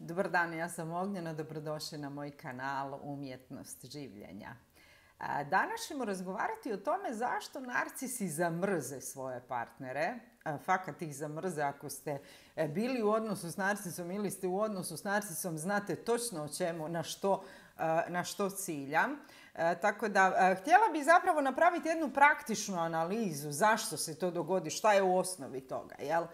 Dobar dan, ja sam Ognjena, dobrodošli na moj kanal Umjetnost življenja. Danas ćemo razgovarati o tome zašto narcisi zamrze svoje partnere. Fakat ih zamrze. Ako ste bili u odnosu s narcisom ili ste u odnosu s narcisom, znate točno o čemu, na što ciljam. Tako da htjela bih zapravo napraviti jednu praktičnu analizu zašto se to dogodi, šta je u osnovi toga. Jel?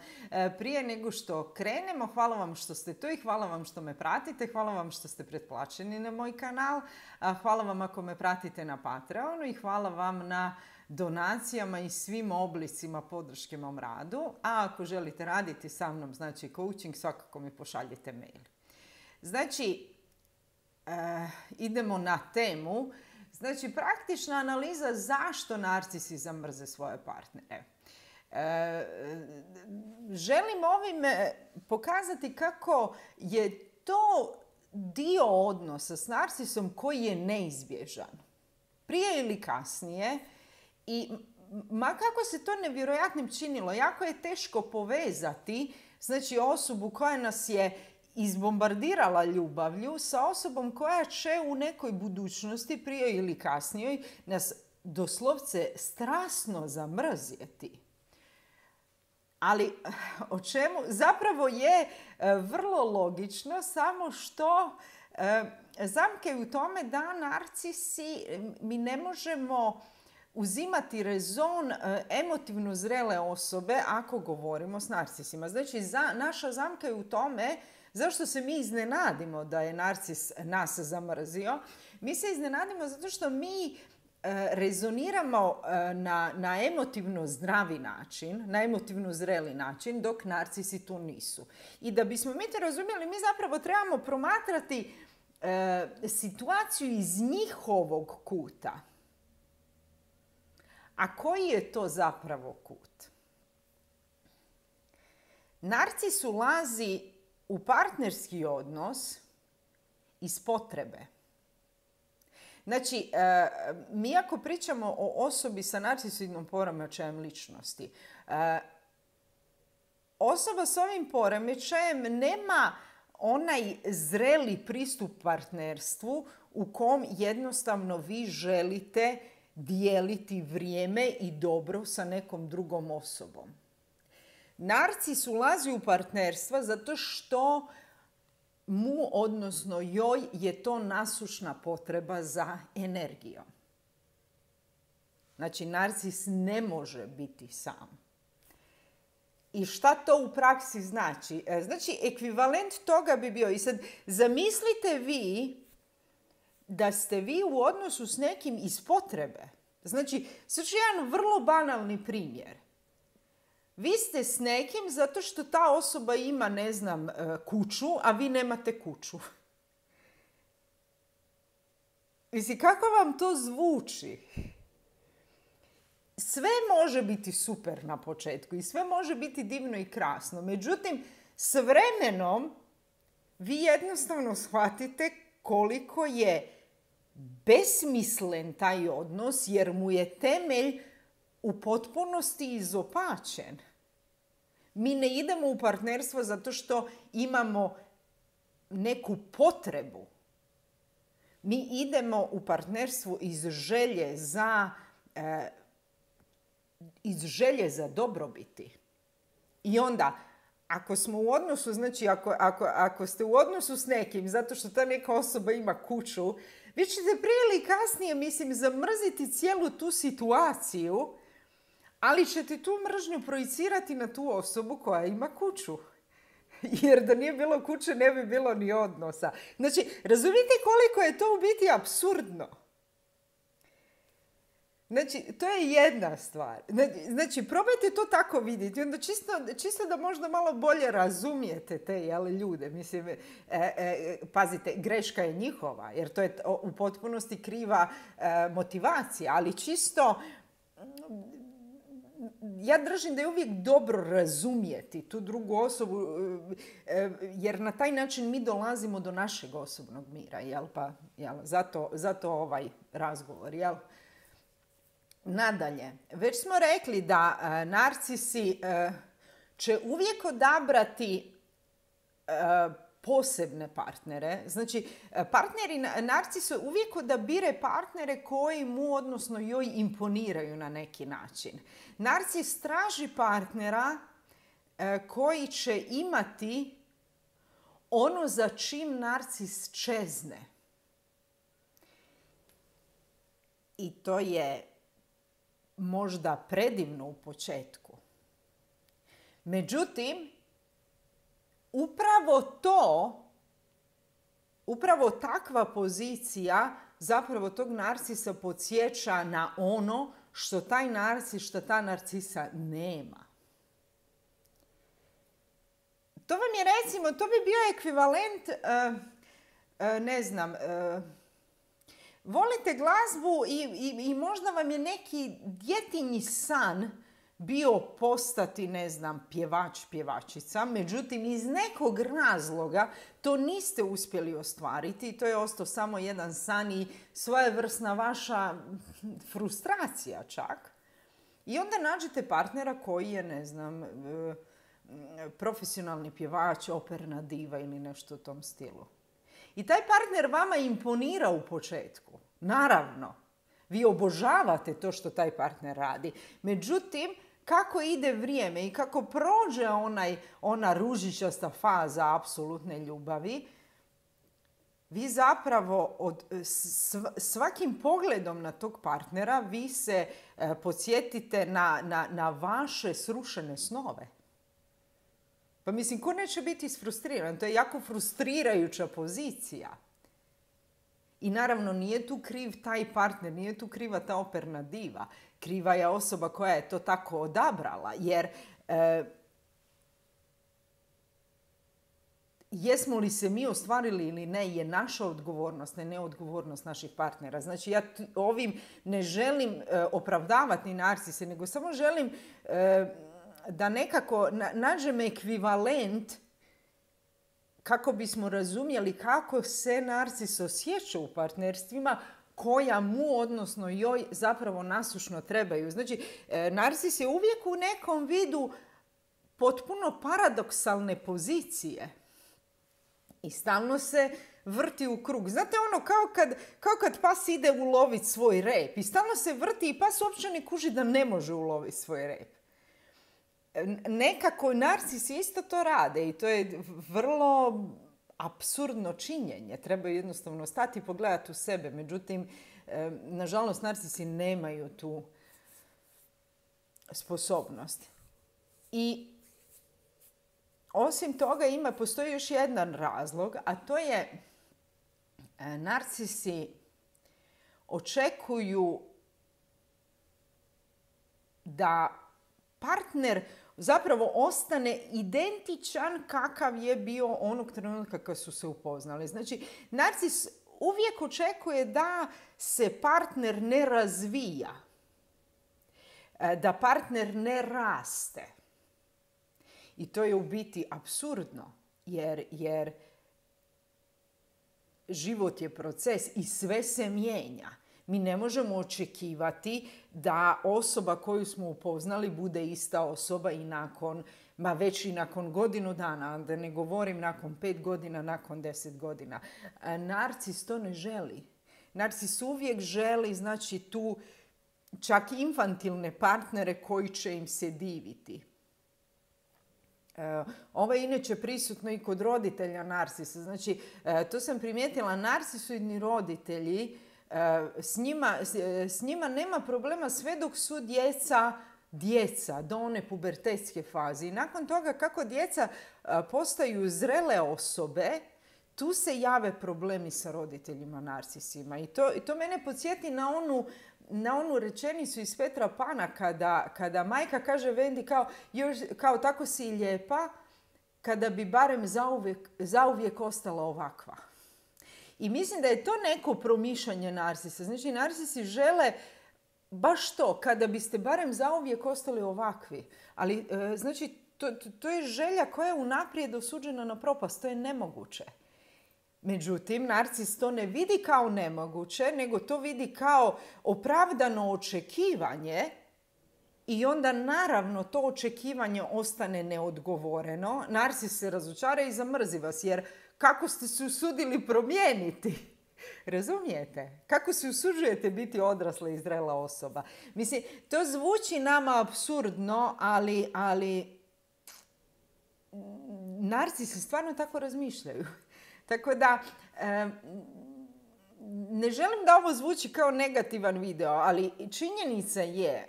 Prije nego što krenemo, hvala vam što ste tu i hvala vam što me pratite, hvala vam što ste pretplaćeni na moj kanal, hvala vam ako me pratite na Patreonu i hvala vam na donacijama i svim oblicima podrške mom radu. A ako želite raditi sa mnom, znači coaching, svakako mi pošaljite mail. Znači, idemo na temu. Znači, praktična analiza zašto narcisi zamrze svoje partnere. Želim ovim pokazati kako je to dio odnosa s narcisom koji je neizbježan. Prije ili kasnije. I ma kako se to nevjerojatnim činilo, jako je teško povezati, znači, osobu koja nas je izbombardirala ljubavlju sa osobom koja će u nekoj budućnosti, prije ili kasnije, nas doslovce strasno zamrzjeti. Ali o čemu? Zapravo je vrlo logično, samo što zamka je u tome da narcisi, mi ne možemo uzimati rezon emotivno zrele osobe ako govorimo s narcisima. Znači, naša zamka je u tome zašto se mi iznenadimo da je narcis nas zamrzio. Mi se iznenadimo zato što mi rezoniramo na emotivno zdravi način, na emotivno zreli način, dok narcisi to nisu. I da bismo mi to razumjeli, mi zapravo trebamo promatrati situaciju iz njihovog kuta. A koji je to zapravo kut? Narcis ulazi u partnerski odnos iz potrebe. Znači, mi ako pričamo o osobi sa narcisoidnom poremećajem ličnosti, osoba s ovim poremećajem nema onaj zreli pristup partnerstvu u kom jednostavno vi želite dijeliti vrijeme i dobro sa nekom drugom osobom. Narcis ulazi u partnerstva zato što mu, odnosno joj, je to nasušna potreba za energijom. Znači, narcis ne može biti sam. I šta to u praksi znači? Znači, ekvivalent toga bi bio, i sad zamislite vi da ste vi u odnosu s nekim iz potrebe. Znači, sad ću jedan vrlo banalni primjer. Vi ste s nekim zato što ta osoba ima, ne znam, kuću, a vi nemate kuću. Mislim, kako vam to zvuči? Sve može biti super na početku i sve može biti divno i krasno. Međutim, s vremenom vi jednostavno shvatite koliko je besmislen taj odnos, jer mu je temelj u potpunosti izopačen. Mi ne idemo u partnerstvo zato što imamo neku potrebu. Mi idemo u partnerstvo iz želje za dobrobiti. I onda, ako smo u odnosu, znači ako ste u odnosu s nekim zato što ta neka osoba ima kuću, vi ćete prije ili kasnije, mislim, zamrziti cijelu tu situaciju, ali ćete tu mržnju projicirati na tu osobu koja ima kuću. Jer da nije bilo kuće, ne bi bilo ni odnosa. Znači, razumite koliko je to u biti apsurdno? Znači, to je jedna stvar. Znači, probajte to tako vidjeti. Onda čisto da možda malo bolje razumijete te ljude. Mislim, pazite, greška je njihova, jer to je u potpunosti kriva motivacija. Ali čisto, ja držim da je uvijek dobro razumjeti tu drugu osobu, jer na taj način mi dolazimo do našeg osobnog mira. Jel? Pa, zato ovaj razgovor. Jel? Nadalje, već smo rekli da narcisi će uvijek odabrati posebne partnere. Znači, partneri narcisu uvijek odabire partnere koji mu, odnosno joj, imponiraju na neki način. Narcis traži partnera koji će imati ono za čim narcis čezne. I to je možda predivno u početku. Međutim, upravo takva pozicija zapravo tog narcisa podsjeća na ono što taj narcis, što ta narcisa nema. To vam je, recimo, to bi bio ekvivalent, ne znam, volite glazbu i možda vam je neki djetinji san bio postati, ne znam, pjevač, pjevačica, međutim iz nekog razloga to niste uspjeli ostvariti i to je ostao samo jedan san i svojevrsna vaša frustracija čak. I onda nađete partnera koji je, ne znam, profesionalni pjevač, operna diva ili nešto u tom stilu. I taj partner vama imponira u početku. Naravno, vi obožavate to što taj partner radi. Međutim, kako ide vrijeme i kako prođe ona ružičasta faza apsolutne ljubavi, vi zapravo svakim pogledom na tog partnera vi se podsjetite na vaše srušene snove. Pa mislim, ko neće biti isfrustriran? To je jako frustrirajuća pozicija. I naravno nije tu kriv taj partner, nije tu kriva ta operna diva. Kriva je osoba koja je to tako odabrala. Jer jesmo li se mi ostvarili ili ne je naša odgovornost, ne odgovornost naših partnera. Znači ja ovim ne želim opravdavati ni narcise, nego samo želim da nekako nađem ekvivalent kako bismo razumjeli kako se narcis osjeća u partnerstvima koja mu, odnosno joj, zapravo nasušno trebaju. Znači, narcis je uvijek u nekom vidu potpuno paradoksalne pozicije i stalno se vrti u krug. Znate ono, kao kad pas ide uloviti svoj rep i stalno se vrti i pas uopće ne kuži da ne može uloviti svoj rep. Nekako narcis isto to rade i to je vrlo apsurdno činjenje. Treba jednostavno stati i pogledati u sebe. Međutim, nažalost, narcisi nemaju tu sposobnost. I osim toga postoji još jedan razlog, a to je narcisi očekuju da partner zapravo ostane identičan kakav je bio onog trenutka kad su se upoznali. Znači, narcis uvijek očekuje da se partner ne razvija, da partner ne raste. I to je u biti apsurdno, jer život je proces i sve se mijenja. Mi ne možemo očekivati da osoba koju smo upoznali bude ista osoba i već i nakon godinu dana, da ne govorim nakon 5 godina, nakon 10 godina. Narcis to ne želi. Narcis uvijek želi, znači, tu čak infantilne partnere koji će im se diviti. Ovo je inače prisutno i kod roditelja narcisa. Znači, to sam primijetila, narcisoidni roditelji, s njima nema problema sve dok su djeca do one pubertetske faze. I nakon toga kako djeca postaju zrele osobe, tu se jave problemi sa roditeljima narcisima. I to mene podsjeti na onu rečenicu iz Petra Pana kada majka kaže Vendi kao tako si lijepa, kada bi barem zauvijek ostala ovakva. I mislim da je to neko promišljanje narcisa. Znači, narcisi žele baš to, kada biste barem zauvijek ostali ovakvi. Ali, znači, to je želja koja je unaprijed osuđena na propast. To je nemoguće. Međutim, narcis to ne vidi kao nemoguće, nego to vidi kao opravdano očekivanje I onda naravno to očekivanje ostane neodgovoreno. Narcis se razočara i zamrzi vas, jer kako ste se usudili promijeniti? Razumijete? Kako se usuđujete biti odrasla i zrela osoba? Mislim, to zvuči nama apsurdno, ali narcisi stvarno tako razmišljaju. Tako da, ne želim da ovo zvuči kao negativan video, ali činjenica je,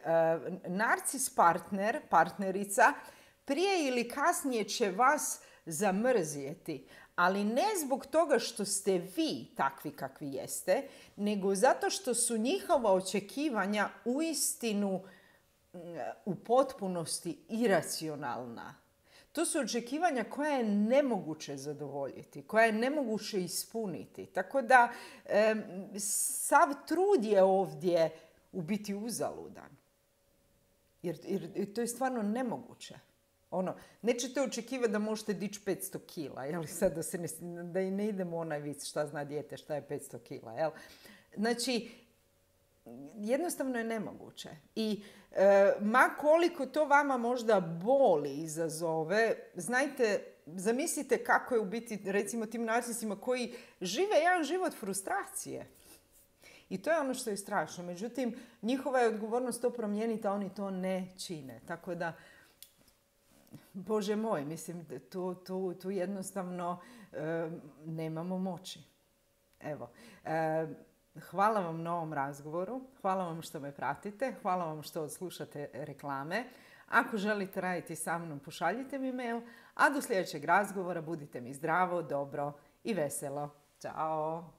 narcis partnerica, prije ili kasnije će vas zamrzjeti. Ali ne zbog toga što ste vi takvi kakvi jeste, nego zato što su njihova očekivanja uistinu u potpunosti iracionalna. To su očekivanja koja je nemoguće zadovoljiti, koja je nemoguće ispuniti. Tako da sav trud je ovdje u biti uzaludan. Jer to je stvarno nemoguće. Nećete očekivati da možete dići 500 kila, jel? Sad da i ne idemo u onaj vic šta zna dijete, šta je 500 kila, jel? Znači, jednostavno je nemoguće. I ma koliko to vama možda boli izazove, znajte, zamislite kako je u biti, recimo, tim narcisima koji žive jedan život frustracije. I to je ono što je strašno. Međutim, njihova je odgovornost to promijeniti, a oni to ne čine. Tako da, Bože moj, mislim, tu jednostavno nemamo moći. Evo, hvala vam na ovom razgovoru, hvala vam što me pratite, hvala vam što odslušate reklame. Ako želite raditi sa mnom, pošaljite mi mail, a do sljedećeg razgovora budite mi zdravo, dobro i veselo. Ćao!